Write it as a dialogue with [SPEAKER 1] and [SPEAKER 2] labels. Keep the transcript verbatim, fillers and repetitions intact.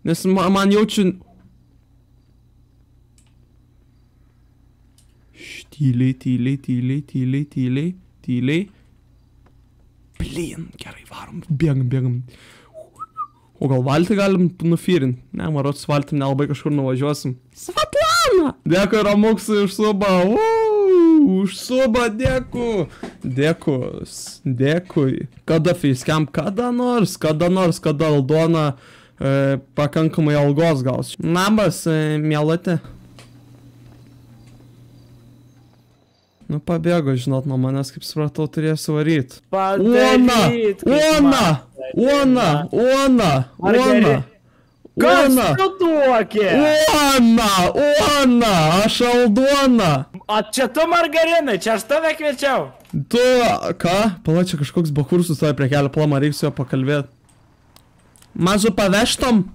[SPEAKER 1] Nes ma, man jaučiu... Šš, tyliai, tyliai, tyliai, tyliai, tyliai, tyliai. Blin, gerai, varom, bėgam, bėgam. O gal valtį galim nufyrint? Ne, marot, su valtim nelabai kažkur nuvažiuosim. Svetlana! Dėkui, Ramuksui, už subą. Uuu, už subą, dėkui. Dėkui, dėkui. Kada facecam? Kada nors, kada nors, kada Aldona e, pakankamai algos gaus. Nabas, e, mielatė. Nu, pabėgo, žinot, nuo manęs, kaip supratau, turėsiu varyti. Ona! Ona! Ona! Ona! Ona!
[SPEAKER 2] Kas tu duokė?
[SPEAKER 1] Ona! Ona! Aš Aldona!
[SPEAKER 2] O čia tu, Margarinai, čia aš tave kviečiau.
[SPEAKER 1] Tu, ką? Pala, čia kažkoks bakursas toje prie kelio plama, reikia su juo pakalbėti. Mažu paveštom?